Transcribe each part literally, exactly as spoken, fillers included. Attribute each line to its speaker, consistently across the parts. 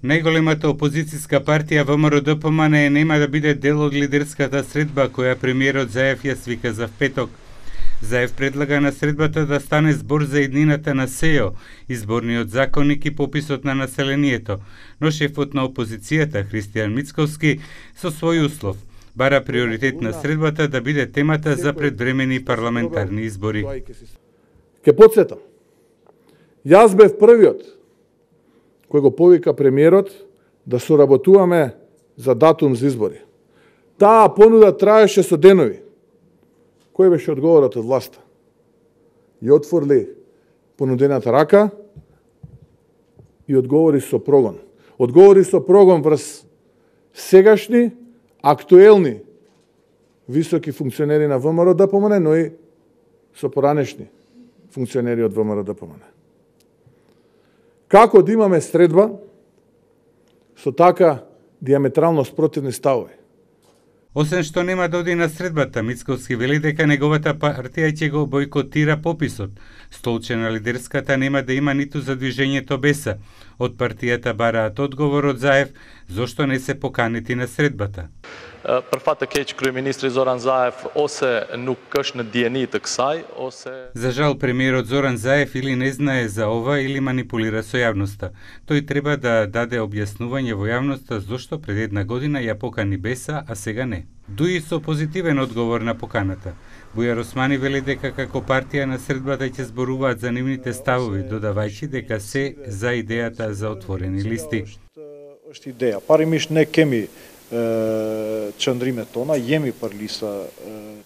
Speaker 1: Најголемата опозицијска партија ВМРО-ДПМН нема да биде дел од лидерската средба која премиерот Заев ја свика за петок. Заев предлага на средбата да стане збор за иднината на СЕО, изборниот законник и пописот на населението, но шефот на опозицијата Христијан Мицковски со свој услов бара приоритет на средбата да биде темата за предвремени парламентарни избори.
Speaker 2: Ке потсетам, јас бев првиот кој го повика премиерот да соработуваме за датум за избори. Таа понуда траеше со денови. Кој беше одговорот од власта? И отворли понудената рака и одговори со прогон. Одговори со прогон врз сегашни, актуелни високи функционери на ВМРО-ДПМН, но и со поранешни функционери од ВМРО-ДПМН. Како да имаме средба со така диаметрално спротивни ставови?
Speaker 1: Освен што нема да оди на средбата, Мицковски вели дека неговата партија ќе го бойкотира пописот. Столче на лидерската нема да има ниту за движењето Беса. Од партијата бараат одговор од Заев зошто не се поканети на средбата.
Speaker 3: Për fat të keq kryeministri Zoran Zaev ose nuk është në dieni të kësaj ose
Speaker 1: За жал премиерот Зоран Заев или не знае за ова или манипулира со јавноста. Тој треба да даде објаснување во јавноста зошто пред една година ја покани Беса, а сега не. Дуи со позитивен одговор на поканата. Бујар Османи вели дека како партија на средбата ќе зборуваат за нивните ставови, додавајќи дека се за идејата за отворени листи.
Speaker 4: Është ideja. Parimisht ne kemi çndrimet tona, jemi për lista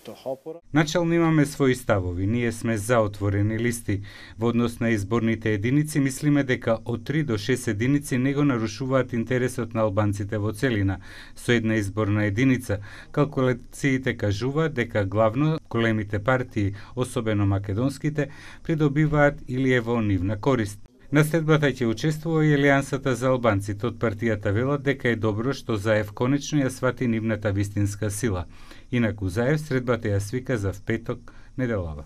Speaker 4: të hapura.
Speaker 1: Начално имаме своји ставови, ние сме за отворени листи. Во однос на изборните единици мислиме дека од три до шест единици не го нарушуваат интересот на албанците во целина. Со една изборна единица, калкулациите кажуваат дека главно големите партии, особено македонските, придобиваат или е во нивна корист. На средбата ќе учествува и Алијансата за албанците. Од партијата велат дека е добро што Заев конечно ја свати нивната вистинска сила. Инаку Заев средбата ја свика за впеток неделава.